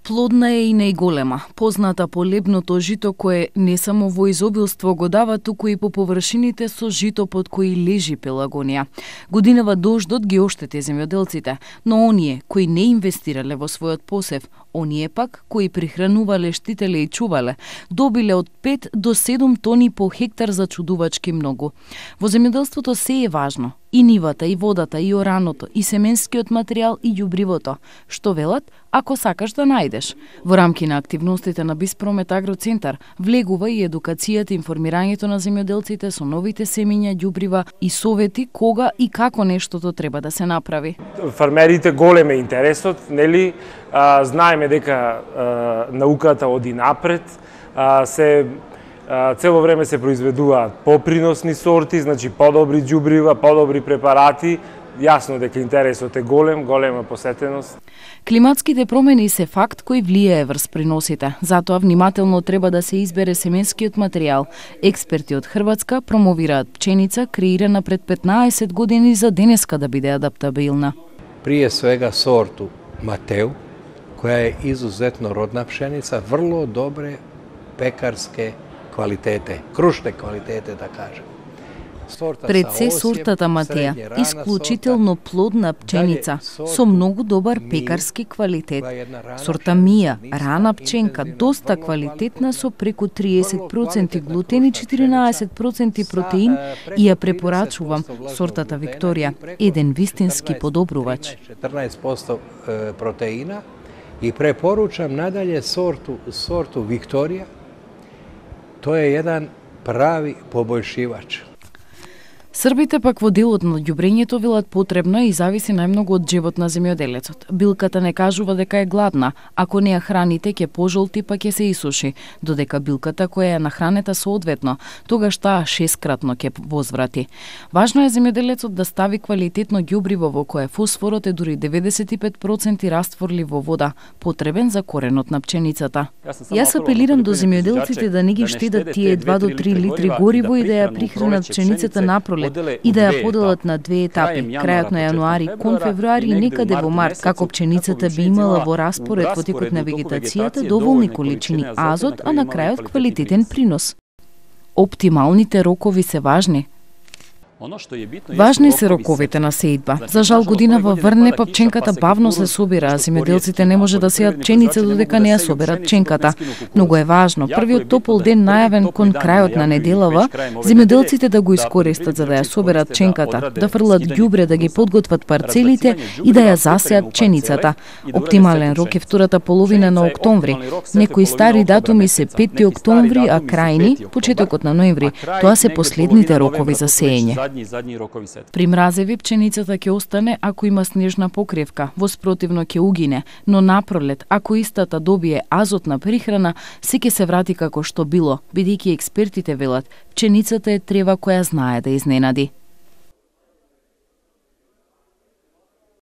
Плодна е и најголема, позната по лебното жито кое не само во изобилство го дава, туку и по површините со жито под кои лежи Пелагонија. Годинава дождот ги оштети земјоделците, но оние кои не инвестирале во својот посев, оние пак кои прихранувале, штителе и чувале, добиле од 5 до 7 тони по хектар за чудувачки многу. Во земјоделството се е важно, и нивата, и водата, иораното, и семенскиот материјал, и ѓубривото. Што велат? Ако сакаш да најдеш. Во рамки на активностите на Биспромет Агроцентар влегува и едукацијата и информирањето на земјоделците со новите семиња, ѓубрива и совети кога и како нештото треба да се направи. Фармерите голем е интересот, нели? Знаеме дека науката оди напред, цело време се произведуваат поприносни сорти, значи подобри ѓубрива, подобри препарати. Јасно дека интересот е голема посетеност. Климатските промени се факт кој влијае врз приносите. Затоа внимателно треба да се избере семенскиот материјал. Експерти од Хрватска промовираат пченица креирана пред 15 години за денеска да биде адаптабилна. Прije svega sortu Mateu, koja je izuzetno rodna pšenica, vrlo dobre pekarske kvalitete, krušne kvalitete da kažem. Пред се сортата Матеја, исклучително плодна пченица со многу добар пекарски квалитет. Сорта Мија, рана пченка, доста квалитетна со преку 30% глутен и 14% протеин и ја препорачувам сортата Викторија, еден вистински подобрувач. 14% протеина и препоручам надалje sortu Викторија. Тоа е еден прави побоljšivač. Србите пак во делот на ѓубрењето велат потребно и зависи најмногу од живот на земјоделецот. Билката не кажува дека е гладна, ако не ја храните ќе пожолти па ќе се исуши, додека билката која е нахранета соодветно, тогаш таа 6-кратно ќе возврати. Важно е земјоделецот да стави квалитетно ѓубриво во кое фосфорот е дури 95% растворлив во вода, потребен за коренот на пченицата. Јас апелирам до земјоделците да не ги штедат тие 2 до 3 литри гориво и да ја прихранат пченицата напролет и да ја поделат на 2 етапи, крајот на јануари кон февруари и некаде во март, како пченицата би имала во распоред во текот на вегетацијата доволни количини азот, а на крајот квалитетен принос. Оптималните рокови се важни. Важни се роковите на сеидба. За жал годинава врне, па пченката бавно се собира, а земјоделците не може да сеат пченица додека не ја соберат пченката. Многу е важно, првиот топол ден најавен кон крајот на неделава, земјоделците да го искористат за да ја соберат пченката, да фрлат ѓубре, да ги подготват парцелите и да ја засеат пченицата. Оптимален рок е втората половина на октомври. Некои стари датуми се 5 октомври, а крајни почетокот на ноември. Тоа се последните рокови за сеење. При мразеви пченицата ќе остане ако има снежна покривка, во спротивно ќе угине, но напролет, ако истата добие азотна прихрана, се ќе се врати како што било, бидејќи експертите велат, пченицата е трева која знае да изненади.